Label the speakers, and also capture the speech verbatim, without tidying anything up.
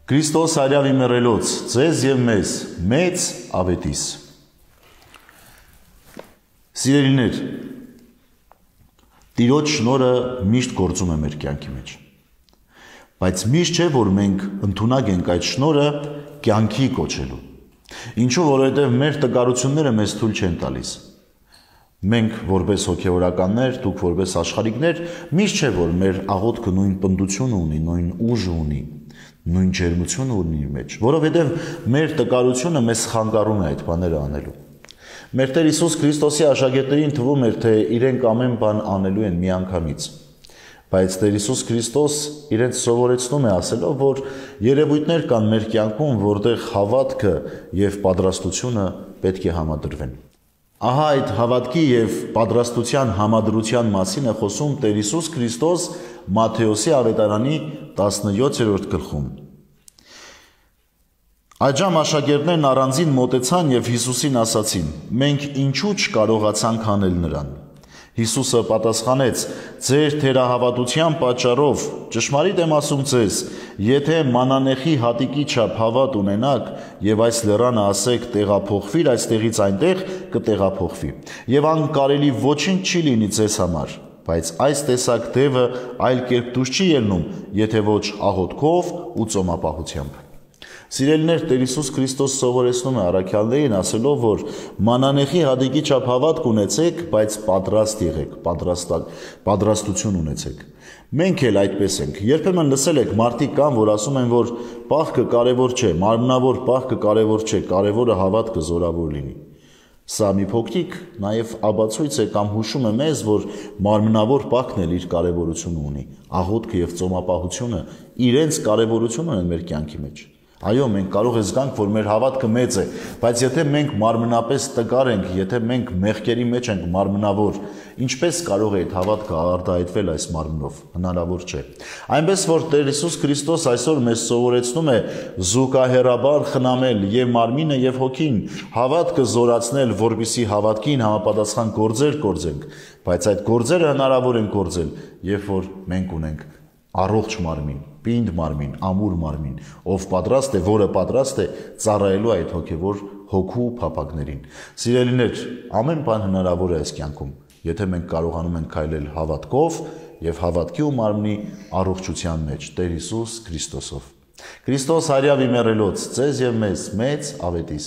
Speaker 1: Քրիստոս արյավի մեռելոց, ձեզ և մեզ, մեծ ավետիս։ Սիրելիներ, Տիրոջ շնորհը միշտ գործում է մեր կյանքի մեջ, բայց միշտ չէ, որ մենք ընդունակ ենք այդ շնորհը կյանքի կոչելու, ինչու որովհետև մեր տկարությունները մեզ թույլ չեն տալիս։ Մենք որպես հոգևորականներ, դուք որպես աշխարհիկներ, միշտ չէ, որ մեր աղոթքը նույն պնդությունը ունի, նույն ուժը ունի, նույն ջերմությունը ունի իր մեջ, որովհետև մեր տկարությունը մեզ խանգարում է այդ բաները անելու։ Մեր Տեր Հիսուս Քրիստոսի աշակերտներին թվում էր, թե իրենք ամեն բան անելու են միանգամից, բայց Տեր Հիսուս Քրիստոս իրենց սովորեցնում է ասելով, որ երևույթներ կան մեր կյանքում, որտեղ հավատքը և պատրաստությունը պետք է համադրվեն։ Ահա այդ հավատքի և պատրաստության համադրության մասին է խոսում Տեր Հիսուս Քրիստոս Մատթեոսի ավետարանի տասնյոթերորդ գլխում։ Այդժամ աշակերտներն առանձին մոտեցան և Հիսուսին ասացին. «Մենք ինչու չկարողացանք անել նրան»։ Հիսուսը պատասխանեց. «Ձեր թերահավատության պատճառով, ճշմարիտ եմ ասում ձեզ, եթե մանանեխի հատիկի չափ հավատ ունենաք և այս լեռանը ասեք տեղափոխվիր այստեղից այնտեղ, կտեղափոխվի, և անկարելի ոչինչ չի լինի ձեզ համար, բայց այս տեսակ դևը այլ կերպ դուրս չի ելնում, եթե ոչ աղոթքով ու ծոմապահությամբ»։ Սիրելիներ, Տեր Հիսուս Քրիստոս սովորեցնում է առաքյալներին ասելով, որ մանանեխի հատիկի չափ հավատ ունեցեք, բայց պատրաստ եղեք, պատրաստություն ունեցեք։ Մենք էլ այդպես ենք։ Երբեմն լսել եք մարդիկ կան, որ ասում են, որ պահքը կարևոր չէ, մարմնավոր պահքը կարևոր չէ, կարևորը հավատքը զորավոր լինի։ Սա մի փոքրիկ նաև ապացույց է կամ հուշում է մեզ, որ մարմնավոր պահքն էլ իր կարևորությունը ունի, աղոթքը և ծոմապահությունը իրենց կարևորություն ունեն մեր կյանքի մեջ։ Այո, մենք կարող է զգանք, որ մեր հավատքը մեծ է, բայց եթե մենք մարմնապես տկար ենք, եթե մենք մեղքերի մեջ ենք մարմնավոր, ինչպես կարող է այդ հավատքը արտահայտվել այս մարմնով, հնարավոր չէ։ Այնպես որ Տեր Հիսուս Քրիստոս այսօր մեզ սովորեցնում է զուգահեռաբար խնամել և մարմինը և հոգին, հավատքը զորացնել, որպեսզի հավատքին համապատասխան գործեր կործենք, բայց այդ գործերը հնարավոր են գործել, երբ որ մենք ունենք առողջ մարմին, պինդ մարմին, ամուր մարմին, ով պատրաստ է, որը պատրաստ է ծառայելու այդ հոգևոր հոգու փափագներին։ Սիրելիներ, ամեն բան հնարավոր է այս կյանքում, եթե մենք կարողանում ենք քայլել հավատքով և հավատքի ու մարմնի առողջության մեջ Տեր Հիսուս Քրիստոսով։ Քրիստոս արյավի մեռելոց, ձեզ և մեզ, մեծ ավետիս։